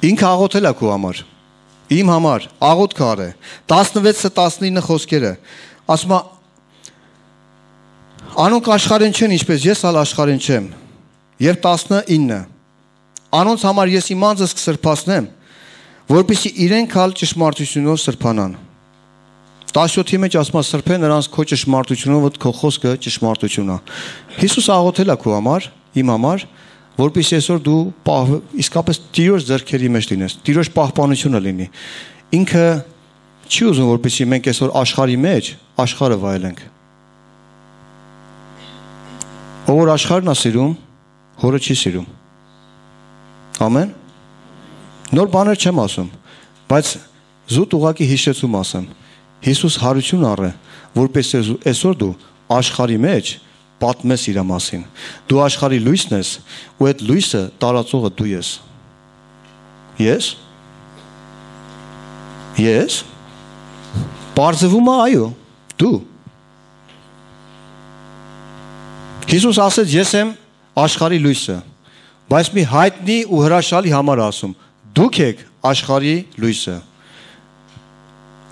Ինքը աղոթել է քո համար, իմ համար, աղոթք արե։ տասնվեցը տասնինը խոսքերը։ Ասում է անոնք աշխարհին չեն, ինչպես ես ալ աշխարհին չեմ։ Եվ տասնինը անոնց համար ես իմ անձս կսրբացնեմ, որպեսզի իրենք ալ ճշմարտությունով սրբանան։ տասնյոթի մեջ ասում է սրբե նրանց քո ճշմարտությունով, քո խոսքը ճշմարտություն է։ Հիսուս աղոթել է քո համար, իմ համար, որպեսզի այսօր դու պահ, իսկապես Տիրոջ ձեռքերի մեջ լինես, Տիրոջ պահպանությունը լինի։ Ինքը չի ուզում, որպեսզի մենք այսօր աշխարհի մեջ աշխարհը վայելենք։ Ով որ աշխարհն է սիրում, հորը չի սիրում։ Ամեն։ Նոր բաներ չեմ ասում, բայց զուտ ուղակի հիշեցում ասեմ։ Հիսուս հարություն առ է, որպես այսօր դու աշխարհի մեջ պատմես իր մասին։ Դու աշխարհի լույսն ես, ու այդ լույսը տարածողը դու ես։ Ես։ Ես։ Պարզվում է այո, դու։ Հիսուս ասեց, ես եմ աշխարհի լույսը, բայց մի հայտնի ու հրաշալի համար ասում, դուք եք աշխարհի լույսը։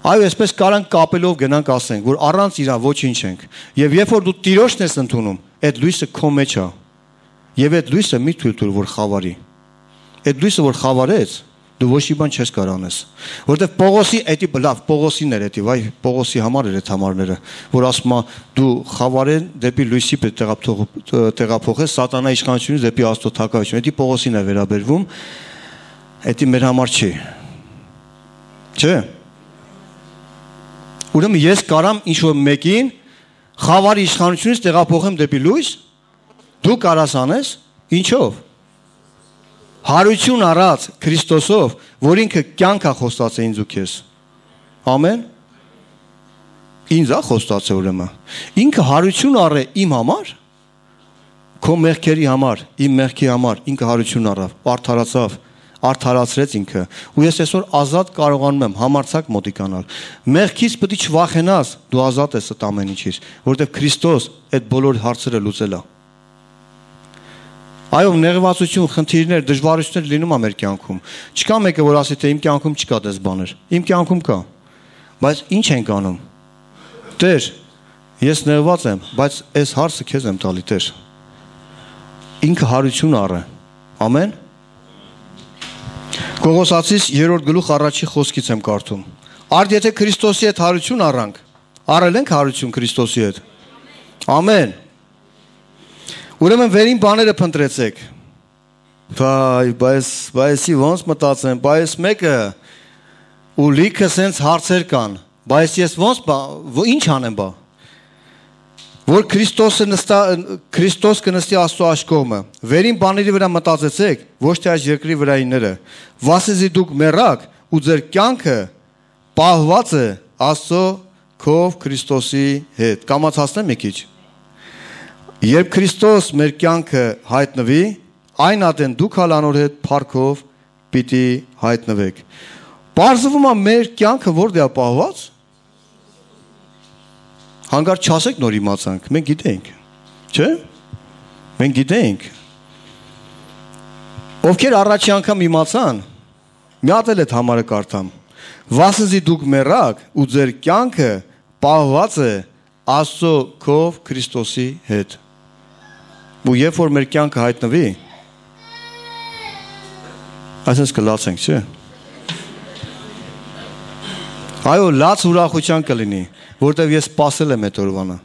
Այո, այսպես կարանք կապելով գնանք ասենք, որ առանց իրա ոչինչ ենք։ Եվ երբ որ դու Տիրոջն ես ընդունում, այդ լույսը քո մեջ է։ Եվ այդ լույսը մի թույլ տուր, որ խավարի։ Այդ լույսը որ խավարեց, դու ոչ մի բան չես կարող անես։ Որտեվ Պողոսի էդի լավ, Պողոսին էր էդի, վայ, Պողոսի համար էր այդ համարները, որ ասում է դու խավարեն դեպի լույսի պետք տեղափոխես սատանա իշխանությունից դեպի Աստծո թակավորություն։ Էդի Պողոսին է վերաբերվում, էդի մեր համար չի։ Չէ՞։ Ուրեմն ես կարամ ինչ-որ մեկին խավարի իշխանությունից տեղափոխեմ դեպի լույս, դու կարաս անես, ինչով։ Հարություն առած Քրիստոսով, որ ինքը կյանք է խոստացել ինձ ու քեզ։ Ամեն։ Ինձ է խոստացել ուրեմն։ Ինքը հարություն առե իմ համար, քո մեղքերի համար, իմ մեղքի համար, ինքը հարություն առավ, արդարացավ, արդարացրեց ինքը։ Ու ես այսօր ազատ կարողանում եմ համարձակ մոտիկանալ։ Մեղքից պետք է չվախենաս, դու ազատ ես այդ ամեն ինչից, որովհետև Քրիստոս այդ բոլոր հարցերը լուծել է։ Այո, նեղվածություն, խնդիրներ, դժվարություններ լինում է մեր կյանքում։ Չկա մեկը, որ ասի, թե իմ կյանքում չկա դες բաներ։ Իմ կյանքում կա։ Բայց ինչ ենք անում։ Տեր, ես նեղված եմ, բայց այս հարցը քեզ եմ տալի, Տեր։ Ինքը հարություն առը։ Ամեն։ Կողոսացիս երրորդ գլուխ առաջի խոսքից եմ կարդում։ Արդ եթե Քրիստոսի հետ հարություն առանք, առել ենք հարություն Քրիստոսի հետ։ Ամեն։ Ուրեմն վերին բաները փնտրեցեք։ Վայ, բայց բայսի ոնց մտածեմ, բայց մեկը ու լիքը սենց հարցեր կան, բայց ես ոնց ինչ անեմ բա։ Որ Քրիստոսը նստա Քրիստոս կնստի Աստծո աշկողմը։ Վերին բաների վրա մտածեցեք, ոչ թե այս երկրի վրայինները։ Վասեզի դուք մեռաք ու ձեր կյանքը պահված է Աստծո քով Քրիստոսի հետ։ Կամացածնեմ մի քիչ։ Երբ Քրիստոս մեր կյանքը հայտնվի, այն ատեն դուք հալ անոր հետ փառքով պիտի հայտնվեք։ Պարզվում է մեր կյանքը որտե՞ղ է պահված։ Հանկարծ չասեք նոր իմացանք, մենք գիտենք, չէ՞։ Մենք գիտենք։ Ովքեր առաջի անգամ իմացան, մի հատ էլ այդ համարը կարդամ։ Վասնզի դուք մեռաք ու ձեր կյանքը պահված է Աստծո քով Քրիստոսի հետ։ Ու երբ որ մեր կյանքը հայտնվի, այսպես կլացենք, չէ՞։ Այո, լաց ուրախության կլինի, որտեվ ես սպասել եմ այդ օրվանը։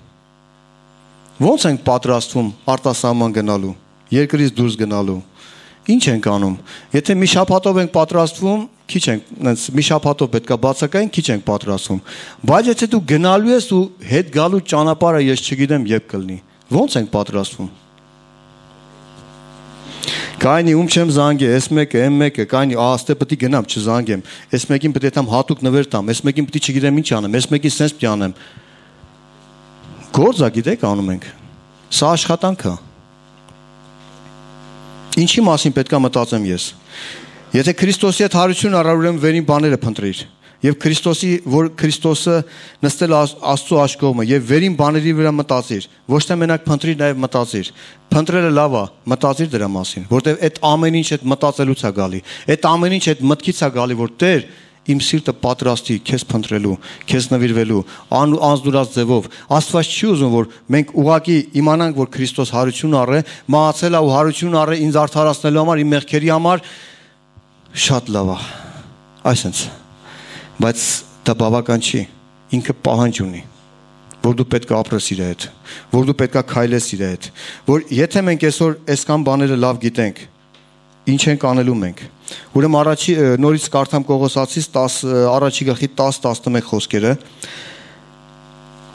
Ոնց ենք պատրաստվում արտասահման գնալու, երկրից դուրս գնալու։ Ինչ ենք անում։ Եթե մի շաբաթով ենք պատրաստվում, քիչ ենք, մի շաբաթով պետքա բացակային, քիչ ենք պատրաստվում։ Բայց եթե դու գնալու ես ու հետ գալու ճանապարհը ես չգիտեմ երբ կլինի, ոնց ենք պատրաստվում։ Կայնի ում չեմ զանգե, այս մեկը, այն մեկը, կայնի ահստե պետք է գնամ, չզանգեմ։ Այս մեկին պետք է տամ հատուկ նվեր տամ, այս մեկին պետք է չգիտեմ ինչ անեմ, այս մեկին սենց պետք է անեմ։ Գործ է, գիտեք, անում ենք։ Սա աշխատանք է։ Ինչի մասին պետք է մտածեմ ես։ Եթե Քրիստոսի հետ հարություն առար, ուրեմն վերին բաները փնտրիր։ Եվ Քրիստոսի, որ Քրիստոսը նստել Աստծո աշկողը եւ վերին բաների վրա մտածիր, ոչ թե մենակ փնտրիր, նաեւ մտածիր։ Փնտրելը լավ է, մտածիր դրա մասին, որտեւ այդ ամեն ինչ այդ մտածելուց է գալի։ Այդ ամեն ինչ այդ մտքից է գալի, որ Տեր իմ սիրտը պատրաստի քեզ փնտրելու, քեզ նվիրվելու, անզդուրած ձևով։ Աստված չի ուզում, որ մենք ուղակի իմանանք, որ Քրիստոս հարություն առե, մահացել է ու հարություն առե ինձ արդարացնելու համար, իմ մեղքերի համար, շատ լավ է։ Այսինքն, բայց դա բավական չի, ինքը պահանջ ունի, որ դու պետք է ապրես իր հետ, որ դու պետք է քայլես իր հետ, որ եթե մենք այսօր այսքան բաները լավ գիտենք, ինչ ենք անելու մենք։ Ուրեմն առաջի նորից կարդամ Կողոսացիս առաջի գլխի տասը տասնմեկ խոսքերը,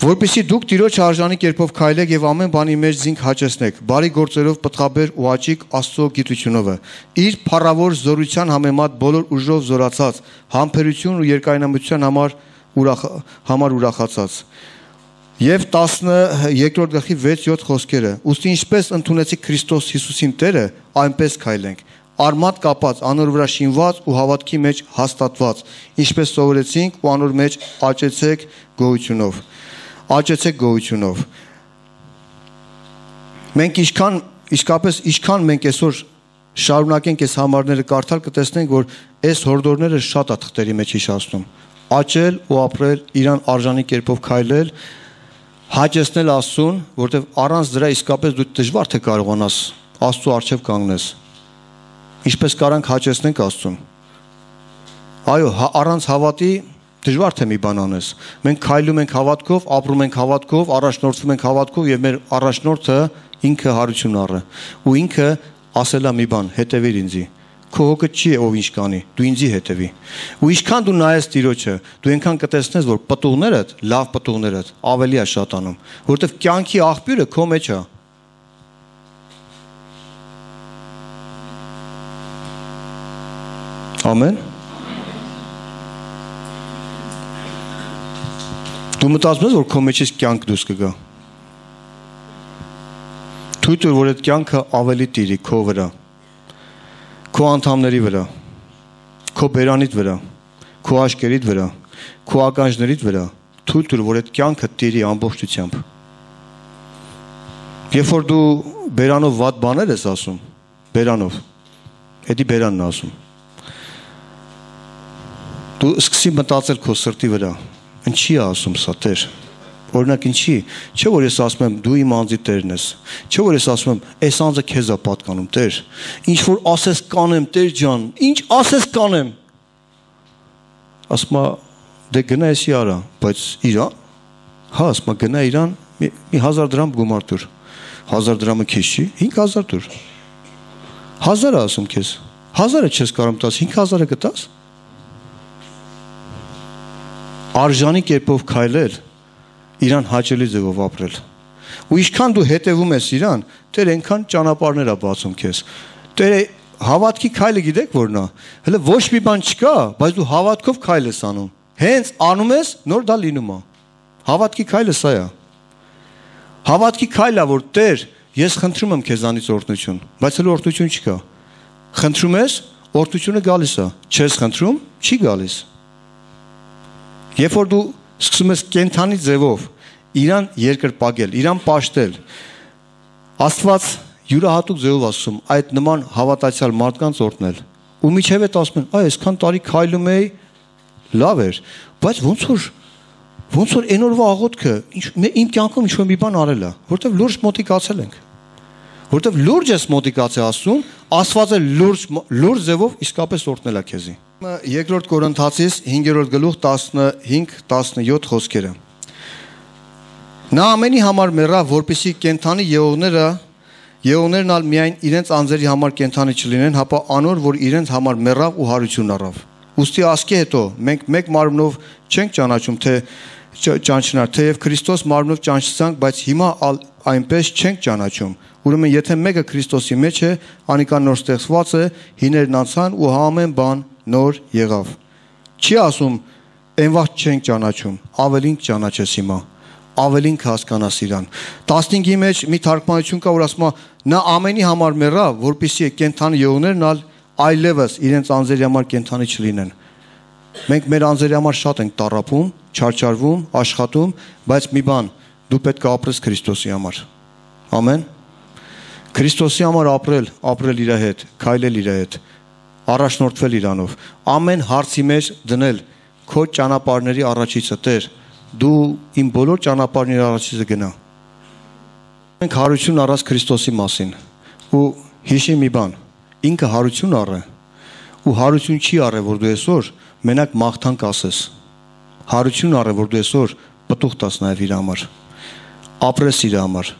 որպեսզի դուք Տիրոջ արժանի կերպով քայլեք եւ ամեն բանի մեջ զինք հաճեցնեք, բարի գործերով պտղաբեր ու աճիկ Աստծո գիտությունով, իր փառավոր զորության համեմատ բոլոր ուժով զորացած, համբերություն ու երկայնամտության համար ուրախ համար ուրախացած։ Եվ տասներկրորդ գլխի վեց յոթ խոսքերը, ուստի ինչպես ընդունեցիք Քրիստոս Հիսուսին Տերը, այնպես քայլենք, արմատ կապած, անոր վրա շինված ու հավատքի մեջ հաստատված, ինչպես սովորեցինք ու անոր մեջ աճեցեք գոհությունով, աճեցեք գոհությունով։ Մենք ինչքան, իսկապես ինչքան մենք այսօր շարունակենք այս համարները կարդալ, կտեսնենք, որ այս հորդորները շատ է թղթերի մեջ հիշացնում։ Աճել ու ապրել, իրան արժանի կերպով քայլել, հաճեցնել Աստծուն, որտեղ առանց դրա իսկապես դու դժվար թե կարողանաս Աստծո առջև կանգնես։ Ինչպես կարանք հաճեցնենք Աստծուն։ Այո, առանց հավատի դժվար թե մի բան անես։ Մենք քայլում ենք հավատքով, ապրում ենք հավատքով, առաջնորդվում ենք հավատքով եւ մեր առաջնորդը ինքը հարություն առը։ Ու ինքը ասել է մի բան, հետևիր ինձի։ Քո հոգը չի ով ինչ կանի, դու ինձի հետևի։ Ու ինչքան դու նայես Տիրոջը, դու այնքան կտեսնես, որ պտուղներդ, լավ պտուղներդ ավելի է շատանում, որովհետև կյանքի աղբյուրը քո մեջ է։ Ամեն։ Դու մտածում ես, որ քո մեջից կյանք դուրս կգա։ Թույլ տուր, որ այդ կյանքը ավելի տիրի քո վրա, քո անդամների վրա, քո բերանիդ վրա, քո աշկերիդ վրա, քո ականջներիդ վրա, թույլ տուր, որ այդ կյանքը տիրի ամբողջությամբ։ Երբ որ դու բերանով վատ բաներ ես ասում, բերանով, հետի բերանն ասում, դու սկսի մտածել քո սրտի վրա, ինչի է ասում սա Տեր։ Օրինակ ինչի, չէ որ ես ասում եմ դու իմ անձի Տերն ես, չէ որ ես ասում եմ այս անձը քեզ է պատկանում Տեր, ինչ որ ասես կանեմ Տեր ջան, ինչ ասես կանեմ, ասում է դե գնա էսի արա, բայց իրան, հա ասում է գնա իրան մի հազար դրամ գումար տուր, հազար դրամը քեզ չի, հինգ հազար տուր, հազար է ասում քեզ, հազարը չես կարում տաս, հինգ հազարը կտաս, արժանի կերպով քայլել, իրան հաճելի ձևով ապրել։ Ու ինչքան դու հետևում ես իրան, Տեր այնքան ճանապարհներ է բացում քեզ։ Տերը հավատքի քայլը գիտեք որն է։ Հələ ոչ մի բան չկա, բայց դու հավատքով քայլ ես անում։ Հենց անում ես, նոր դա լինում է։ Հավատքի քայլը սա է։ Հավատքի քայլը որ Տեր, ես խնդրում եմ քեզանից օրհնություն, բայց հələ օրհնություն չկա։ Խնդրում ես, օրհնությունը գալիս է, չես խնդրում, չի գալիս։ Երբ որ դու սկսում ես կենթանի ձևով իրան երկրպագել, իրան պաշտել, Աստված յուրահատուկ ձևով ասում, այդ նման հավատացյալ մարդկանց օրհնել։ Ու միջև այդ ասում են, այ այսքան տարի քայլում էի, լավ էր, բայց ոնց որ ոնց որ այն օրվա աղոթքը իմ կյանքում ինչ-որ մի բան արել է, որտեվ լուրջ մոտիկացել ենք։ Որտեվ լուրջ ես մոտիկացել ասում, Աստվածը լուրջ լուրջ ձևով իսկապես օրհնել է քեզի։ Երկրորդ Կորինթացիս հինգերորդ գլուխ տասնհինգ տասնյոթ խոսքերը։ Նա ամենի համար մեռավ, որպեսզի կենթանի եղողները եղողներն ալ միայն իրենց անձերի համար կենթանի չլինեն, հապա անոր, որ իրենց համար մեռավ ու հարություն առավ։ Ուստի ասկե հետո մենք մեկ մարմնով չենք ճանաչում, թե ճանչնար, թեև Քրիստոս մարմնով ճանչցանք, բայց հիմա այնպես չենք ճանաչում։ Ուրեմն եթե մեկը Քրիստոսի մեջ է, անիկան նոր ստեղծված է, հիներն անցան ու ամեն բան նոր եղավ։ Չի ասում այն վաղ չենք ճանաչում, ավելին ճանաչես հիմա, ավելին հասկանաս իրան։ տասնհինգի մեջ մի թարգմանություն կա, որ ասում է նա ամենի համար մեռավ, որպեսզի կենթանի եղողներն ալ այլևս իրենց անձերի համար կենթանի չլինեն։ Մենք մեր անձերի համար շատ ենք տառապում, չարչարվում, աշխատում, բայց մի բան, դու պետք է ապրես Քրիստոսի համար։ Ամեն։ Քրիստոսի համար ապրել, ապրել իր հետ, քայլել իր հետ, առաջնորդվել իրանով, ամեն հարցի մեջ դնել քո ճանապարհների առաջիցը, Տեր, դու իմ բոլոր ճանապարհների առաջիցը գնա։ Մենք հարություն առած Քրիստոսի մասին ու հիշի մի բան, ինքը հարություն առը ու հարություն չի առը, որ դու այսօր մենակ մաղթանք ասես։ Հարություն առը, որ դու այսօր պտուղ տաս նաև իր համար, ապրես իր համար,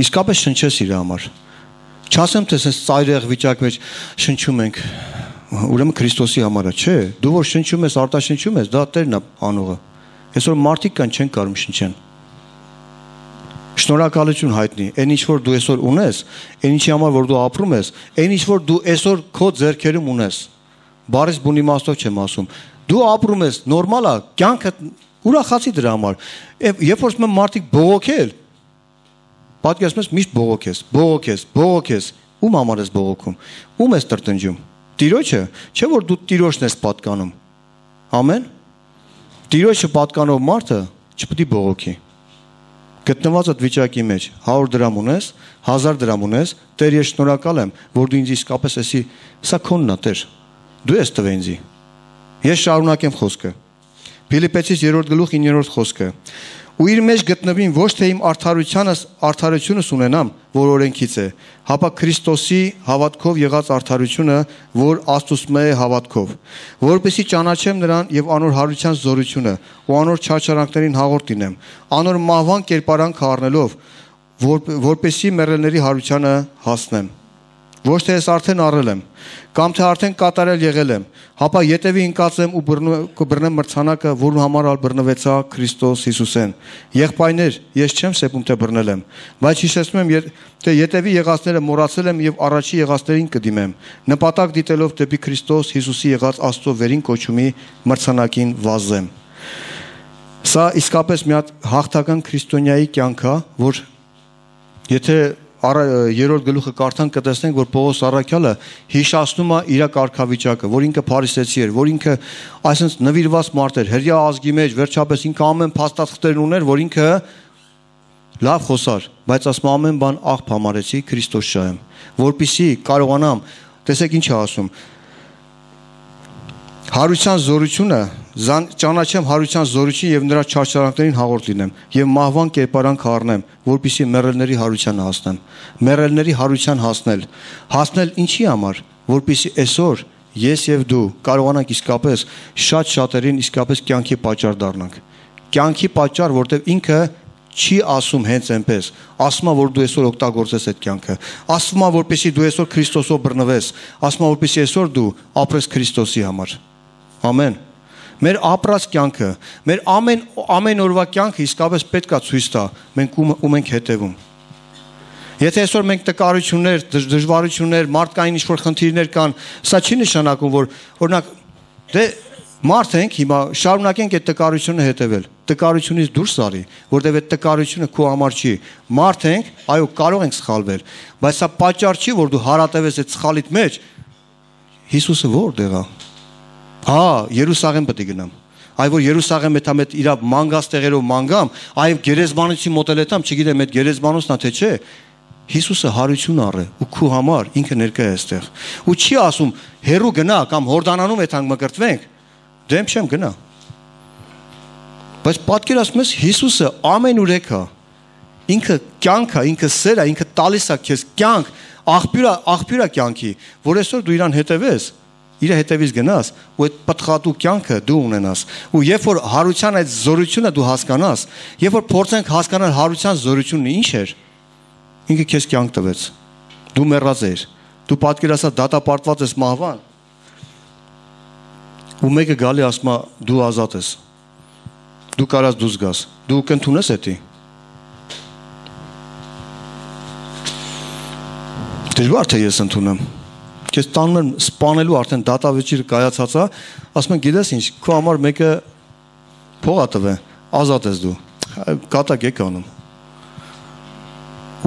իսկապես շնչես իր համար։ Չասեմ, թե այս ծայրեղ վիճակ մեջ շնչում ենք, ուրեմն Քրիստոսի համար է, չէ, դու որ շնչում ես, արտաշնչում ես, դա Տերն է անողը։ Այսօր մարդիկ կան չեն կարող շնչեն։ Շնորհակալություն հայտնի, այն ինչ որ դու այսօր ունես, այն ինչի համար որ դու ապրում ես, այն ինչ որ դու այսօր քո ձեռքերում ունես։ Բարես բուն իմաստով չեմ ասում։ Դու ապրում ես, նորմալ է, կյանքը ուրախացի դրա համար։ Երբ որ ասում եմ մարդիկ բողոքել, պատկերացնում ես միշտ բողոքես, բողոքես, բողոքես, ում համար ես բողոքում, ում ես տրտնջում։ Տիրոջը, չէ որ դու Տիրոջն ես պատկանում։ Ամեն։ Տիրոջը պատկանող մարդը չպետք է բողոքի։ Գտնված այդ վիճակի մեջ հարյուր դրամ ունես, հազար դրամ ունես, Տեր ես շնորհակալ եմ, որ դու ինձ իսկապես էսի, սա քոնն է, Տեր։ Դու ես տվել ինձ։ Ես շարունակեմ խոսքը։ Փիլիպպեցիս երրորդ գլուխ իններորդ խոսքը։ Ու իր մեջ գտնվին ոչ թե իմ արդարությանս արդարությունս ունենամ, որ օրենքից է, հապա Քրիստոսի հավատքով եղած արդարությունը, որ Աստծո է հավատքով, որպեսզի ճանաչեմ նրան եւ անոր հարության զորությունը ու անոր չարչարանքներին հաղորդ լինեմ, անոր մահվան կերպարանք առնելով, որ, որպեսզի մեռելների հարությանը հասնեմ։ Ոչ թե ես արդեն առել եմ, կամ թե արդեն կատարել եղել եմ, հապա ետևի ընկածեմ ու կբռնեմ մրցանակը, որու համար ալ բռնվեցա Քրիստոս Հիսուսեն։ Եղբայրներ, ես չեմ սեպում թե բռնել եմ, բայց հիշեցնում եմ, թե ետևի եղածները մոռացել եմ եւ առաջի եղածներին կդիմեմ, նպատակ դիտելով դեպի Քրիստոս Հիսուսի եղած Աստծո վերին կոչումի մրցանակին վազեմ։ Սա իսկապես մի հատ հաղթական քրիստոնյայի կյանք է, որ եթե երրորդ գլուխը կարդանք կտեսնենք, որ Պողոս առաքյալը հիշացնում է իր կարգավիճակը, որ ինքը փարիսեցի էր, որ ինքը այսպես նվիրված մարդ էր, հրյա ազգի մեջ, վերջապես ինքը ամեն փաստաթղթերն ուներ, որ ինքը լավ խոսար, բայց ասում ամեն բան աղբ համարեցի Քրիստոս շահեմ, որպեսզի կարողանամ, տեսեք ինչ է ասում, հարության զորությունը, ճանաչեմ հարության զորություն եւ նրա չարչարանքներին հաղորդ լինեմ եւ մահվան կերպարանք առնեմ, որպեսզի մեռելների հարությանը հասնեմ։ Մեռելների հարության հասնել, հասնել ինչի համար, որպեսզի այսօր ես եւ դու կարողանանք իսկապես շատ շատերին իսկապես կյանքի պատճառ դառնանք։ Կյանքի պատճառ, որտեղ ինքը չի ասում հենց այնպես, ասում է որ դու այսօր օգտագործես այդ կյանքը, ասում է որպեսզի դու այսօր Քրիստոսով բռնվես, ասում է որպեսզի այսօր դու ապրես Քրիստոսի համար։ Ամեն։ Մեր ապրած կյանքը, մեր ամեն ամեն օրվա կյանքը իսկապես պետք է ցույց տա, մենք ում ենք հետևում։ Եթե այսօր մենք տկարություններ, դժվարություններ, մարդկային ինչ-որ խնդիրներ կան, սա չի նշանակում, որ օրինակ դե մարդ ենք հիմա շարունակենք այդ տկարությունը հետևել։ տկարությունից դուրս արի, որտեղ այդ տկարությունը քո համար չի։ Մարդ ենք, այո, կարող ենք սխալվել, բայց սա պատճառ չի, որ դու հարատևես այդ սխալիդ մեջ։ Հիսուսը որտեղ է։ Հա, Երուսաղեմ պետք է գնամ։ Այ որ Երուսաղեմ է թամետ իր մանգաստեղերով մանգամ, այ գերեզմանոցի մոտել եմ, չգիտեմ այդ գերեզմանոցն է թե չէ։ Հիսուսը հարություն առե ու քու համար ինքը ներկա է այստեղ։ Ու չի ասում հերու գնա կամ Հորդանանում այդ հանգ մկրտվենք։ Դեմ չեմ գնա։ Բայց պատկերացնում ես Հիսուսը ամեն ուրեք է։ Ինքը կյանք է, ինքը սեր է, ինքը տալիս է քեզ կյանք, աղբյուր է, աղբյուր է կյանքի, որ այսօր դու իրան հետևես, իր հետևից գնաս ու այդ պատխատու կյանքը դու ունենաս։ Ու երբ որ հարության այդ զորությունը դու հասկանաս, երբ որ փորձենք հասկանալ հարության զորությունը ինչ էր, ինքը քեզ կյանք տվեց։ Դու մեռած ես, դու պատկերացա դատապարտված ես մահվան։ Ու մեկը գալի ասում է դու ազատ ես։ Դու կարաս դուրս գաս։ Դու կընդունես էդի։ Դժվար թե ես ընդունեմ։ Քեզ տանում են սպանելու արդեն դատավեճիրը կայացած է, ասում են գիտես ինչ, քո համար մեկը փող ա տվե, ազատ ես դու։ Կատակ եք անում։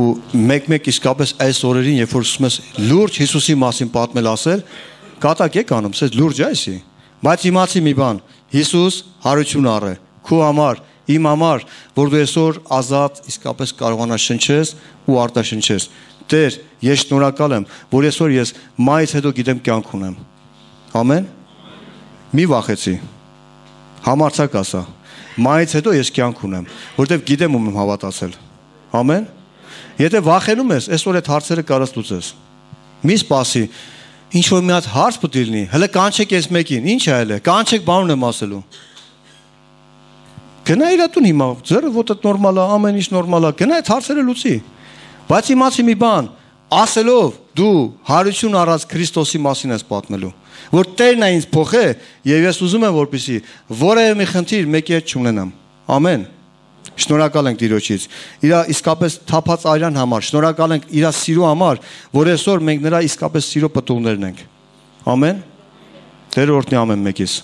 Ու մեկ-մեկ իսկապես այս օրերին, երբ որ ուզում ես լուրջ Հիսուսի մասին պատմել ասել, կատակ եք անում, ասես լուրջ է այսի։ Բայց իմացի մի բան, Հիսուս հարություն առե, քո համար, իմ համար, որ դու այսօր ազատ իսկապես կարողանաս շնչես ու արտաշնչես։ Տեր, ես շնորհակալ եմ, որ այսօր ես մայից հետո գիտեմ կյանք ունեմ։ Ամեն։ Մի վախեցի։ Համարձակ ասա։ Մայից հետո ես կյանք ունեմ, որտեվ գիտեմ ում եմ հավատացել։ Ամեն։ Եթե վախենում ես, այսօր այդ հարցերը կարաս լուծես։ Մի սպասի, ինչ որ մի հատ հարց պետք է լինի, հələ կանչեք այս մեկին, ինչ է հələ, կանչեք բանուն եմ ասելու։ Գնա իր տուն հիմա, ձերը ոտդ նորմալ է, ամեն ինչ նորմալ է, գնա այդ հարցերը լուծի։ Բայց իմացի մի բան, ասելով դու հարություն առած Քրիստոսի մասին ես պատմելու, որ Տերն է ինձ փոխե, եւ ես ուզում եմ որպեսզի որևէ մի խնդիր մեկի հետ չունենամ։ Ամեն։ Շնորհակալ ենք Տիրոջից։ Իր իսկապես թափած արյան համար, շնորհակալ ենք իր սիրո համար, որ այսօր մենք նրա իսկապես սիրո պտուղներն ենք։ Ամեն։ Տեր օրհնի ամեն մեկից։